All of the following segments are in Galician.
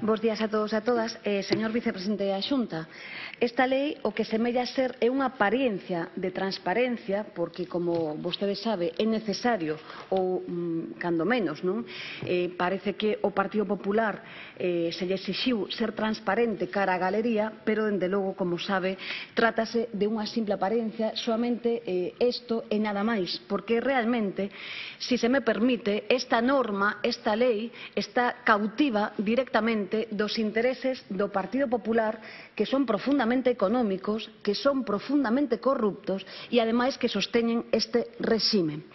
Bos días a todos e a todas. Señor vicepresidente da Xunta, esta lei o que semella ser é unha apariencia de transparencia porque, como vostede sabe, é necesario ou, cando menos, non? Parece que o Partido Popular se lle exixiu ser transparente cara á galería, pero, dende logo, como sabe, trátase de unha simple apariencia, soamente isto e nada máis, porque realmente, se me permite, esta norma, esta lei, está cautiva directamente dos intereses do Partido Popular, que son profundamente económicos, que son profundamente corruptos e, ademais, que sosteñen este réxime.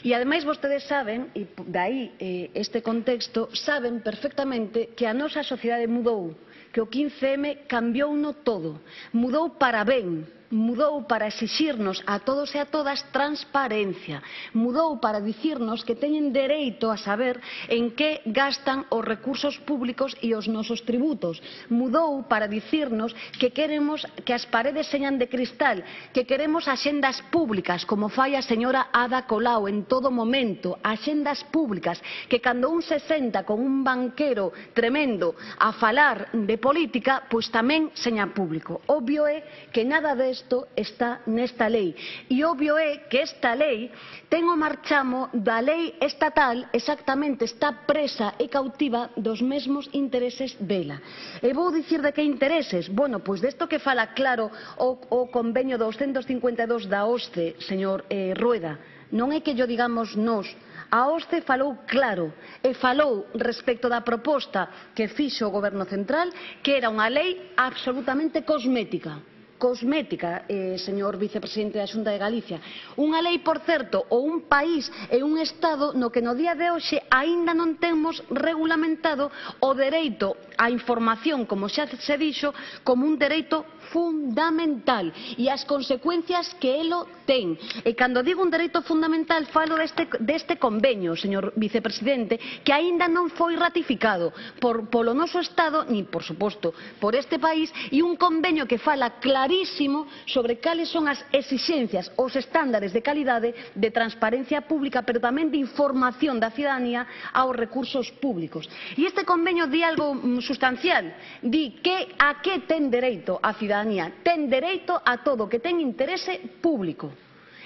E, ademais, vostedes saben, e dai este contexto, saben perfectamente que a nosa sociedade mudou, que o 15M cambiouno todo, mudou para ben, mudou para exixirnos a todos e a todas transparencia, mudou para dicirnos que teñen dereito a saber en que gastan os recursos públicos e os nosos tributos, mudou para dicirnos que queremos que as paredes señan de cristal, que queremos axendas públicas, como fai a señora Ada Colau en todo momento, axendas públicas, que cando un se senta con un banquero tremendo a falar de política, pois tamén seña público. Obvio é que nada desto está nesta lei. E obvio é que esta lei ten o marchamo da lei estatal, exactamente está presa e cautiva dos mesmos intereses dela. E vou dicir de que intereses? Bueno, pois desto que fala claro o convenio 252 da OSCE, señor Rueda. Non é que llo digamos nós. A OSCE falou claro e falou respecto da proposta que fixo o Goberno Central, que era unha lei absolutamente cosmética. Cosmética, señor vicepresidente da Xunta de Galicia. Unha lei, por certo, ou un país e un Estado no que no día de hoxe aínda non temos regulamentado o dereito á información, como xa se dixo, como un dereito fundamental e as consecuencias que elo ten. E cando digo un dereito fundamental falo deste convenio, señor vicepresidente, que aínda non foi ratificado polo noso Estado, ni, por suposto, por este país, e un convenio que fala clarísimo sobre cales son as exixencias, os estándares de calidade, de transparencia pública, pero tamén de información da cidadanía aos recursos públicos. E este convenio di algo sustancial, di que a que ten dereito a cidadanía. Ten dereito a todo que ten interese público.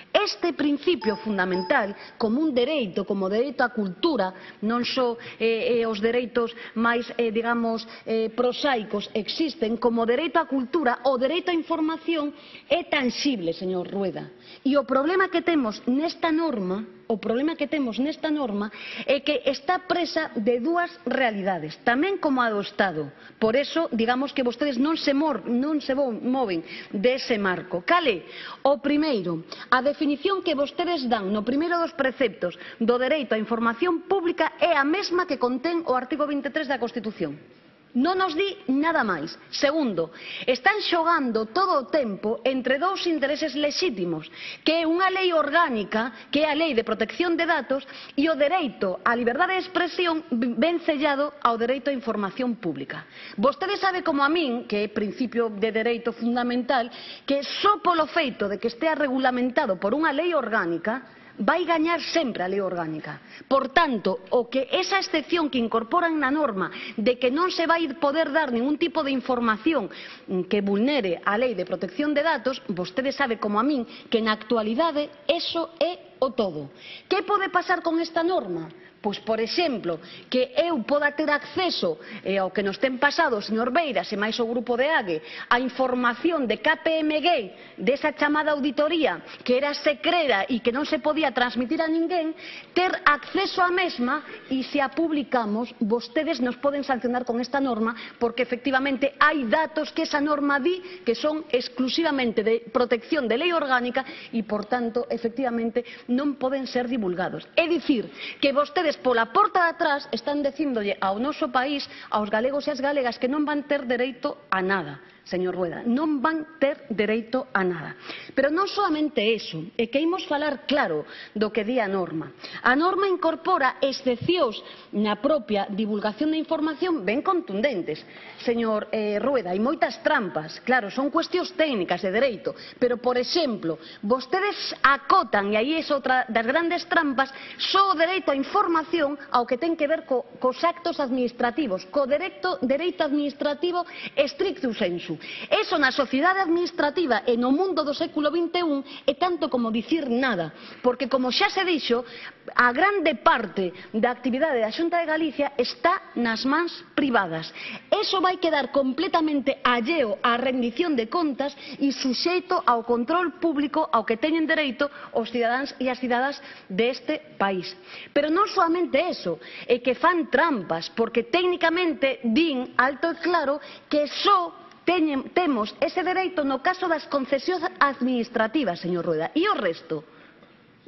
Este principio fundamental, como un dereito, como o dereito á cultura, non só os dereitos máis, digamos, prosaicos existen, como o dereito á cultura, o dereito á información é tanxible, señor Rueda. E o problema que temos nesta norma é que está presa de dúas realidades, tamén como a do Estado. Por eso, digamos que vostedes non se moven dese marco. Cale? O primeiro, a definición que vostedes dan no primeiro dos preceptos do dereito á información pública é a mesma que contén o artigo 23 da Constitución. Non nos di nada máis. Segundo, están xogando todo o tempo entre dous intereses lexítimos, que é unha lei orgánica, que é a Lei de Protección de Datos, e o dereito á liberdade de expresión ben sellado ao dereito á información pública. Vostede sabe como a min, que é principio de dereito fundamental, que só polo feito de que estea regulamentado por unha lei orgánica, vai gañar sempre a lei orgánica. Por tanto, o que esa excepción que incorporan na norma de que non se vai poder dar ningún tipo de información que vulnere a Lei de Protección de Datos, vostede sabe como a min que na actualidade eso é o todo. Que pode pasar con esta norma? Pois, por exemplo, que eu poda ter acceso ao que nos ten pasado o señor Beiras e máis o grupo de AGE a información de KPMG desa chamada auditoría que era secreta e que non se podía transmitir a ninguén, ter acceso á mesma e se a publicamos vostedes nos poden sancionar con esta norma porque efectivamente hai datos que esa norma di que son exclusivamente de protección de lei orgánica e, por tanto, efectivamente non poden ser divulgados. É dicir, que vostedes pola porta de atrás están dicíndolle ao noso país, aos galegos e ás galegas, que non van ter dereito a nada. señor Rueda, non van ter dereito a nada. Pero non solamente eso, é que imos falar claro do que di a norma. A norma incorpora excepcións na propia divulgación da información ben contundentes, señor Rueda, e moitas trampas, claro, son cuestións técnicas de dereito, pero, por exemplo, vostedes acotan, e aí é outra das grandes trampas, só o dereito á información ao que ten que ver cos actos administrativos, co dereito administrativo estricto sensu. Eso na sociedade administrativa e no mundo do século XXI é tanto como dicir nada, porque, como xa se dixo, a grande parte da actividade da Xunta de Galicia está nas mans privadas. Eso vai quedar completamente alleo á rendición de contas e suxeito ao control público ao que teñen dereito os cidadáns e as cidadás deste país. Pero non solamente eso, é que fan trampas, porque técnicamente din alto e claro que só temos ese dereito no caso das concesións administrativas, señor Rueda, e o resto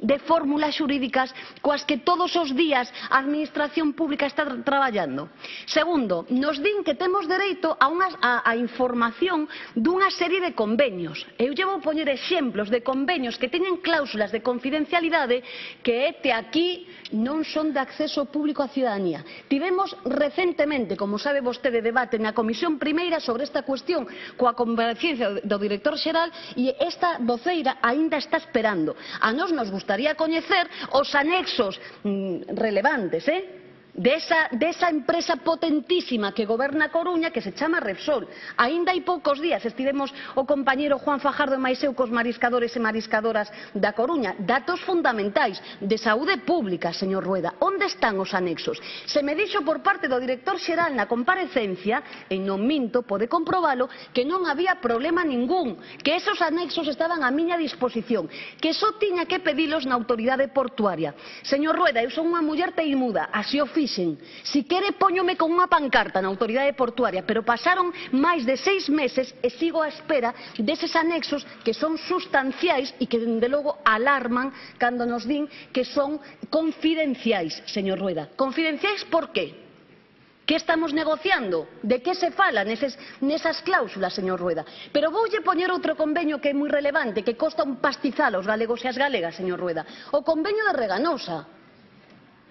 de fórmulas xurídicas coas que todos os días a administración pública está traballando. Segundo, nos din que temos dereito a información dunha serie de convenios. Eu lle vou poñer exemplos de convenios que teñen cláusulas de confidencialidade que aquí non son de acceso público á cidadanía. Tivemos recentemente, como sabe vostede, debate na Comisión Primeira sobre esta cuestión coa comparecencia do director xeral e esta voceira aínda está esperando. A nós nos gustaría coñecer os anexos relevantes, desa empresa potentísima que goberna a Coruña, que se chama Repsol. Aínda hai poucos días estivemos o compañeiro Juan Fajardo e máis eu cos mariscadores e mariscadoras da Coruña. Datos fundamentais de saúde pública, señor Rueda. Onde están os anexos? Se me dixo por parte do director xeral na comparecencia, e non minto, pode comprobalo, que non había problema ningún, que esos anexos estaban a miña disposición, que só tiña que pedilos na autoridade portuaria. Señor Rueda, eu son unha muller teimuda, así o fixen. Si quere, póñome con unha pancarta na autoridade portuaria, pero pasaron máis de 6 meses e sigo á espera deses anexos que son sustanciais e que, dende logo, alarman cando nos din que son confidenciais, señor Rueda. Confidenciais por qué? Que estamos negociando? De que se fala nesas cláusulas, señor Rueda? Pero voulle poñer outro convenio que é moi relevante, que costa un pastizal aos galegos e as galegas, señor Rueda. O convenio de Reganosa.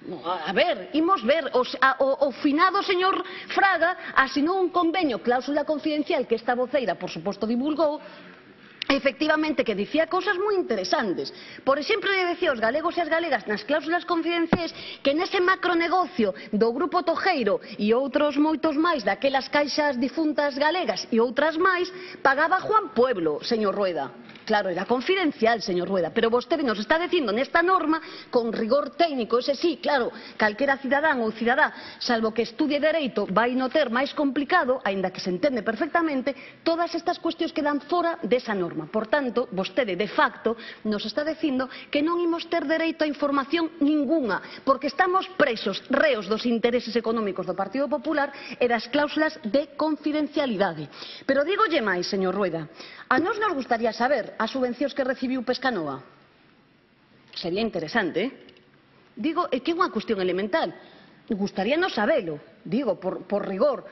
A ver, imos ver, o finado señor Fraga asinou un convenio, cláusula confidencial, que esta voceira, por suposto, divulgou, efectivamente, que dicía cousas moi interesantes. Por exemplo, lle decía aos galegos e as galegas nas cláusulas confidenciais que nese macronegocio do Grupo Tojeiro e outros moitos máis daquelas caixas difuntas galegas e outras máis, pagaba Juan Pueblo, señor Rueda. Claro, era confidencial, señor Rueda, pero vostede nos está dicindo nesta norma, con rigor técnico, ese sí, claro, calquera cidadán ou cidadá, salvo que estudie dereito, vai no ter máis complicado, aínda que se entende perfectamente, todas estas cuestións quedan fora desa norma. Por tanto, vostede, de facto, nos está dicindo que non imos ter dereito a información ningunha, porque estamos presos, reos dos intereses económicos do Partido Popular e das cláusulas de confidencialidade. Pero dígolle máis, señor Rueda, a nós nos gustaría saber as subvencións que recibiu Pescanova. Sería interesante, Digo, é que é unha cuestión elemental. Gustaríanos sabelo, digo, por rigor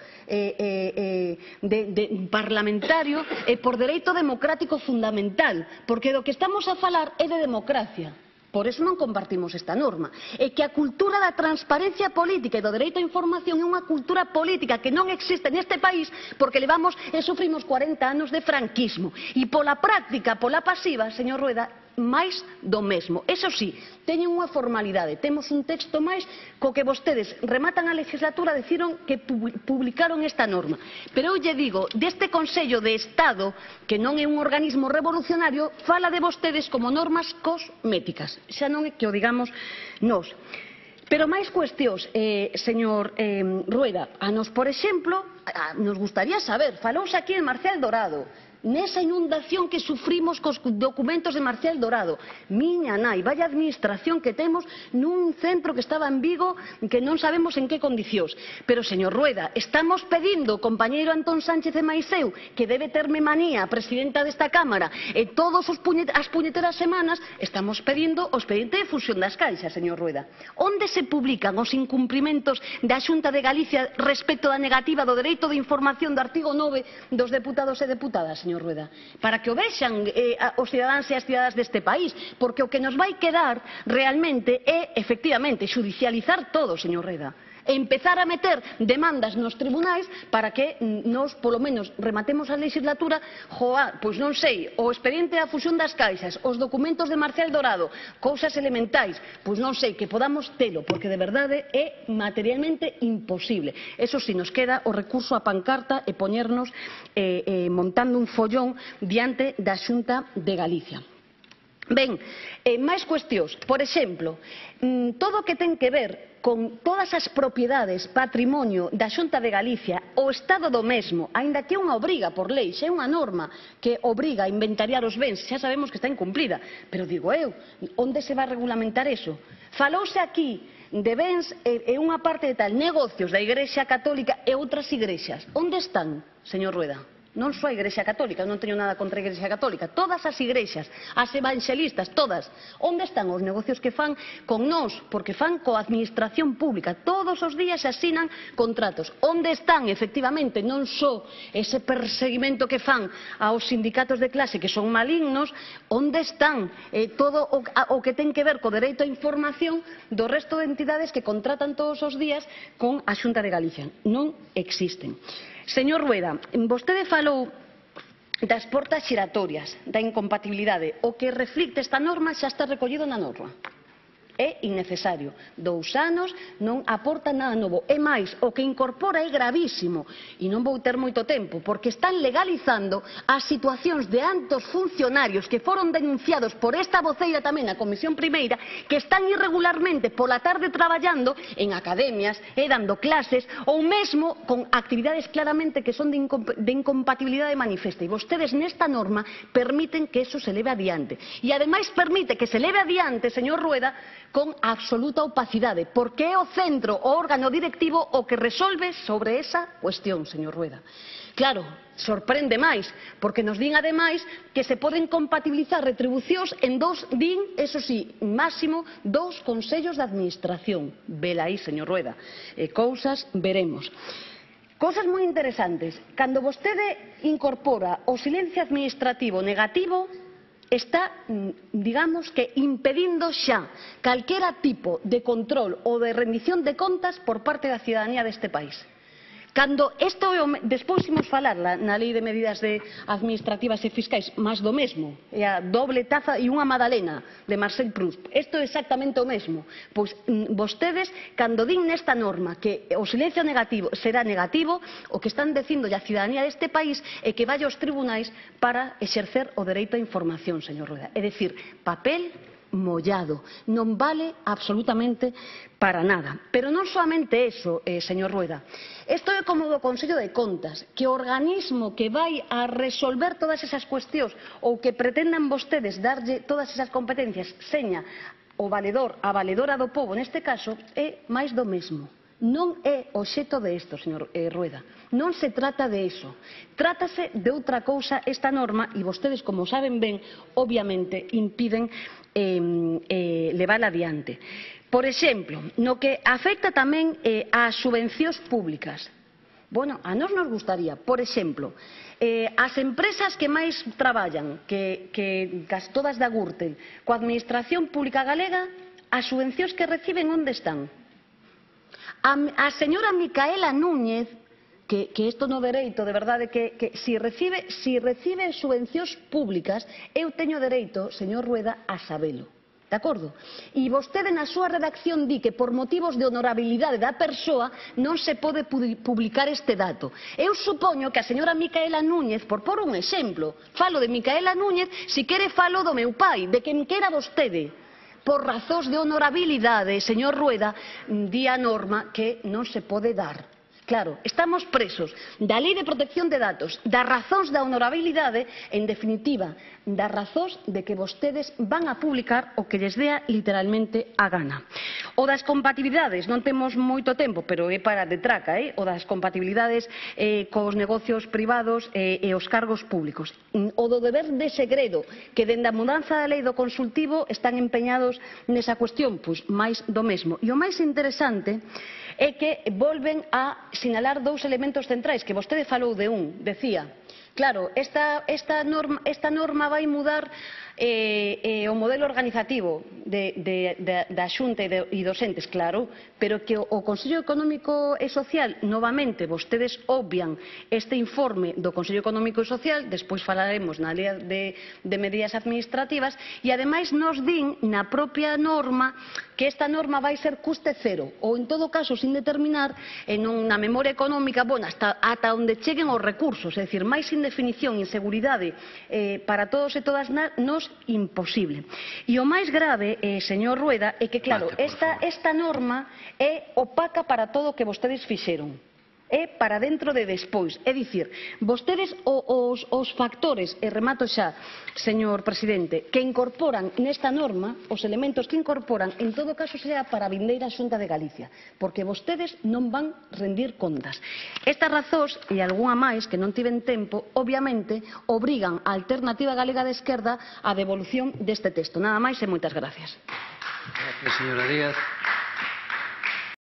parlamentario e por dereito democrático fundamental, porque do que estamos a falar é de democracia. Por eso non compartimos esta norma. É que a cultura da transparencia política e do dereito á información é unha cultura política que non existe neste país porque levamos e sufrimos 40 anos de franquismo. E pola práctica, pola pasiva, señor Rueda, máis do mesmo. Eso sí, teñen unha formalidade. Temos un texto máis co que vostedes rematan a legislatura decidiron que publicaron esta norma. Pero eu lle digo, deste Consello de Estado, que non é un organismo revolucionario, fala de vostedes como normas cosméticas. Xa non é que o digamos nós. Pero máis cuestións, señor Rueda. A nos, por exemplo, nos gustaría saber, falouse aquí en Marcial Dorado, nesa inundación que sufrimos cos documentos de Marcial Dorado. Miña nai, vai a administración que temos nun centro que estaba en Vigo que non sabemos en que condicións. Pero, señor Rueda, estamos pedindo, compañeiro Antón Sánchez e Maiseu, que debe terme manía a presidenta desta Cámara, e todas as puñeteras semanas estamos pedindo o expediente de fusión das caixas, señor Rueda. Onde se publican os incumprimentos da Xunta de Galicia respecto da negativa do dereito de información do artigo 9 dos deputados e deputadas, señor Rueda? Para que o vexan os cidadáns e as cidadas deste país, porque o que nos vai quedar realmente é, efectivamente, xudicializar todo, señor Rueda. Empezar a meter demandas nos tribunais para que nos, polo menos, rematemos a legislatura, pois non sei, o expediente da fusión das caixas, os documentos de Marcial Dorado, cousas elementais, pois non sei, que podamos telo, porque de verdade é materialmente imposible. Eso si, nos queda o recurso a pancarta e poñernos montando un follón diante da Xunta de Galicia. Ben, máis cuestións. Por exemplo, todo o que ten que ver con todas as propiedades, patrimonio da Xunta de Galicia, o Estado do mesmo, aínda que é unha obriga por lei, xa é unha norma que obriga a inventariar os bens, xa sabemos que está incumplida, pero digo eu, onde se vai regulamentar eso? Falouse aquí de bens e unha parte de tal, negocios da Igrexa Católica e outras igrexas. Onde están, señor Rueda? Non só a Igrexa Católica, non teño nada contra a Igrexa Católica, todas as igrexas, as evanxelistas, todas. Onde están os negocios que fan con nós? Porque fan coa administración pública, todos os días se asinan contratos. Onde están, efectivamente, non só ese perseguimento que fan aos sindicatos de clase que son malignos, onde están todo o que ten que ver co dereito á información do resto de entidades que contratan todos os días con a Xunta de Galicia? Non existen. Señor Rueda, vostede falou das portas xiratorias, da incompatibilidade. O que reflicte esta norma xa está recollido na norma. É innecesario. 2 anos non aporta nada novo. É máis, o que incorpora é gravísimo. E non vou ter moito tempo, porque están legalizando as situacións de altos funcionarios que foron denunciados por esta voceira tamén na Comisión Primeira, que están irregularmente pola tarde traballando en academias e dando clases, ou mesmo con actividades claramente que son de incompatibilidade manifesta. E vostedes nesta norma permiten que eso se leve adiante. E ademais permite que se leve adiante, señor Rueda, con absoluta opacidade, porque é o centro, o órgano directivo o que resolve sobre esa cuestión, señor Rueda. Claro, sorprende máis, porque nos din ademais que se poden compatibilizar retribucións en eso sí, máximo 2 consellos de administración. Vela aí, señor Rueda. Cousas veremos. Cousas moi interesantes. Cando vostede incorpora o silencio administrativo negativo, está, digamos, que impedindo xa calquera tipo de control ou de rendición de contas por parte da cidadanía deste país. Cando isto despois imos falar na Lei de Medidas Administrativas e Fiscais, máis do mesmo, é a doble taza e unha magdalena de Marcel Proust. Isto é exactamente o mesmo. Pois vostedes, cando din nesta norma que o silencio negativo será negativo, o que están dicindo a cidadanía deste país é que vai aos tribunais para exercer o dereito á información, señor Rueda. É dicir, papel mollado, non vale absolutamente para nada. Pero non soamente eso, señor Rueda. Isto é como do Consello de Contas, que o organismo que vai a resolver todas esas cuestións ou que pretendan vostedes darlle todas esas competencias seña o valedor, a valedora do pobo neste caso, é máis do mesmo. Non é obxecto de isto, señor Rueda. Non se trata de iso. Trátase de outra cousa esta norma e vostedes, como saben ben, obviamente impiden levala adiante. Por exemplo, no que afecta tamén ás subvencións públicas. Bueno, a nós nos gustaría, por exemplo, as empresas que máis traballan, que todas da Gürtel, coa Administración Pública Galega, as subvencións que reciben onde están? A señora Micaela Núñez, que isto no dereito, de verdade, que si recibe subvencións públicas, eu teño dereito, señor Rueda, a sabelo. De acordo? E vostede na súa redacción di que por motivos de honorabilidade da persoa non se pode publicar este dato. Eu supoño que a señora Micaela Núñez, por un exemplo, falo de Micaela Núñez, si quere falo do meu pai, de quen quera vostede. Por razóns de honorabilidade, señor Rueda, di a norma que non se pode dar. Claro, estamos presos da Lei de Protección de Datos, das razóns da honorabilidade, en definitiva, das razóns de que vostedes van a publicar o que lles dea literalmente a gana. O das compatibilidades, non temos moito tempo, pero é para de traca, o das compatibilidades cos negocios privados e os cargos públicos. O do deber de segredo, que dende a mudanza da lei do consultivo están empeñados nesa cuestión, pois máis do mesmo. E o máis interesante é que volven a sinalar dous elementos centrais, que vostede falou de un, decía, claro, esta norma vai mudar o modelo organizativo da Xunta e dos entes, claro, pero que o Consello Económico e Social, novamente, vostedes obvian este informe do Consello Económico e Social, despois falaremos na lei de medidas administrativas, e ademais nos din na propia norma que esta norma vai ser custe cero, ou en todo caso, sin determinar, na memoria económica, ata onde cheguen os recursos, é dicir, máis indefinición, inseguridade para todos e todas nós, imposible. E o máis grave, señor Rueda, é que, claro, esta norma é opaca para todo o que vostedes fixeron. É para dentro de despois. É dicir, vostedes os factores, e remato xa, señor presidente, que incorporan nesta norma, os elementos que incorporan, en todo caso será para a vindeira Xunta de Galicia, porque vostedes non van rendir contas. Estas razóns, e algunha máis que non tiven tempo, obviamente, obrigan a Alternativa Galega de Esquerda á devolución deste texto. Nada máis e moitas gracias. Gracias, señora Díaz.